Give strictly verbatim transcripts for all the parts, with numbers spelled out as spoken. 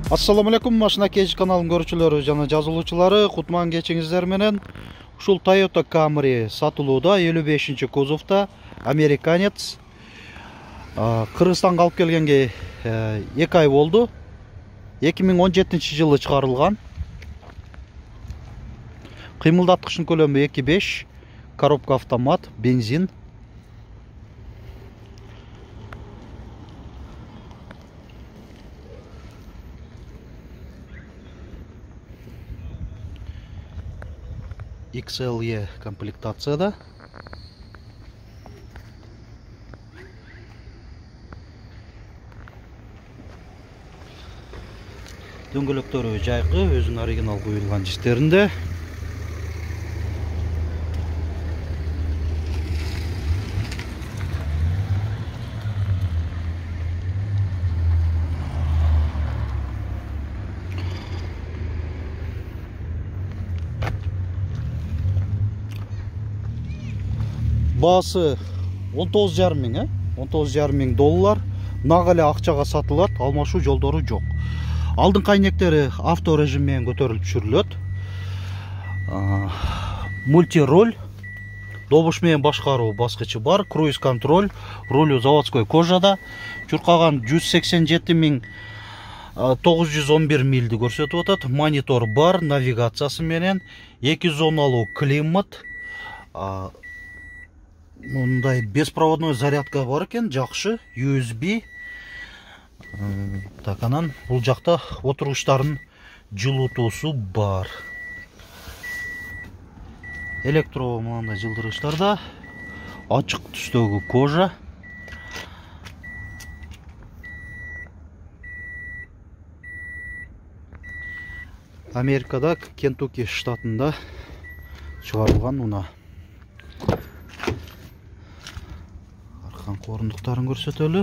Assalamu alaikum, Машина Кеч каналынын көрүүчүлөрү жана жазылуучулары, кутман кечиңиздер менен. Ушул Toyota Camry сатылууда элүү бешинчи кузовта американец. Кыргызстанга алып келгенге эки ай болду. эки миң он жетинчи жылы чыгарылган. Кыймылдаткычынын көлөмү эки беш, коробка автомат, бензин. икс эл и комплектацияда. Дөңгөлөктөрү жайкы, өзүнүн оригинал куюлган жиштеринде. Баасы он тогуз жарым миң, э? он тогуз жарым миң доллар. Нак эле акчага сатылат, алмашуу жолдору жок. Алдыңкы айнектери авто режим менен көтөрүлүп түшүрүлөт. Мульти-роль, добуш менен башкаруу баскычы бар, круиз контроль, рулю заводской кожада. Чуркаган жүз сексен жети миң тогуз жүз он бир милди көрсөтүп атат. Монитор бар, навигациясы менен, эки зоналуу климат. Мындай беспроводной зарядка бар экен, жакшы, ю эс би. Так, анан бул жакта отургучтардын жылытуусу бар. Электро мындай жылдыргычтарда, ачык түстөгү кожа. Америкада, Кентукки штатында чыгарылган мына. Арканкы орундуктарын көрсөтөлү.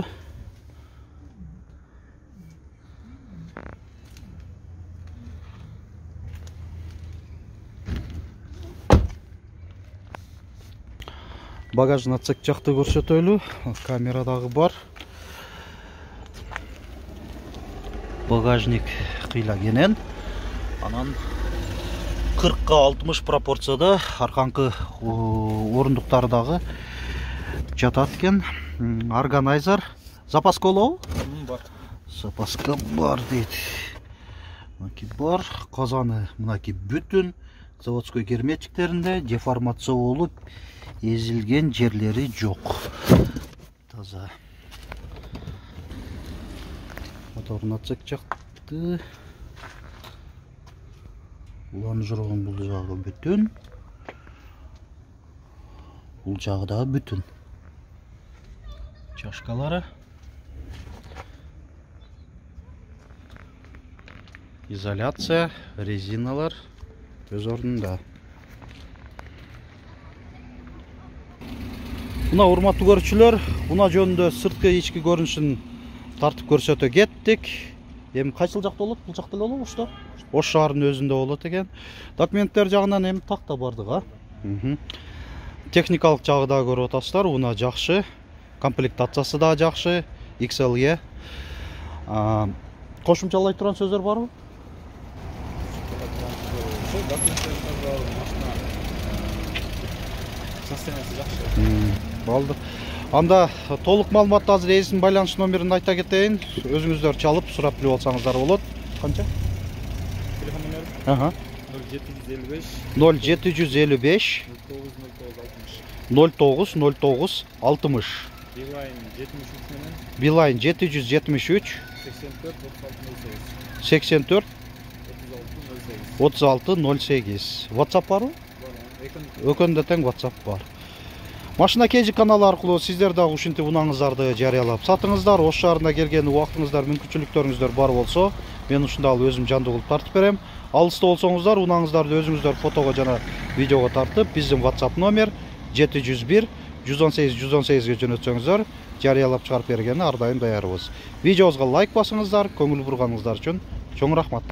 Багажный отсек жакты көрсөтөлү. Камерадагы бар. Багажник кыйла кенен. Анан кыркка алтымыш пропорцияда арканкы орундуктары дагы жатат экен. Органайзер. Запаска болобу? Бар. Запаска бар дейт. Мынаки бар. Казаны мынаки бүтүн. Заводской герметиктеринде деформация болуп, эзилген жерлери жок. Таза. Моторун отсек жакты. Лонжерон бул жагы бүтүн. Бул жагы да бүтүн. Чашкалары. Изоляция, резиналар өз ордунда. Мына урматтуу көрүүчүлөр, мына жөнүндө сырткы ички көрүнүшүн тартып көрсөтө кеттик. Эми кайсы жакта болот? Бул жакта эле болобу, ошто? Ош шаарынын өзүндө болот экен. Документтер жагынан эми такта бардык, а? Техникалык жагы да көрүп атасыздар, мына жакшы. Комплектациясы да жакшы. икс эл и. Кошумчалай турган сөздөр барбы? Болду. Анда толук маалыматты азыр эсин байланыш номерин айта кетейин. Өзүңүздөр чалып сурап билип алсаңыздар болот. Канча? Телефон номери? Ага. ноль жети жүз элүү беш ноль тогуз ноль тогуз алтымыш. Билайн жетимиш үч менен. Билайн жети жүз жетимиш үч сексен төрт отуз алты ноль сегиз. WhatsApp барбы? Өкөндө тең WhatsApp бар. Машина Кеч каналы аркылуу сиздер дагы ушинтип унаңыздарды жарыялап сатыңыздар. Ош шаарына келген убактыңыздар, мүмкүнчүлүктөрүңүздөр бар болсо, мен ушунда ал өзүм жандуу кылып тартып берем. Алыста болсоңуздар, унаңыздарды өзүңүздөр фотого жана видеого тартып, биздин WhatsApp номер жети жүз бир жүз он сегиз жүз он сегизге жөнөтсөңүздөр, жарыялап чыгарып бергенге ар дайым даярбыз. Видеобузга лайк басыңыздар, көңүл бурганыңыздар үчүн чоң рахмат.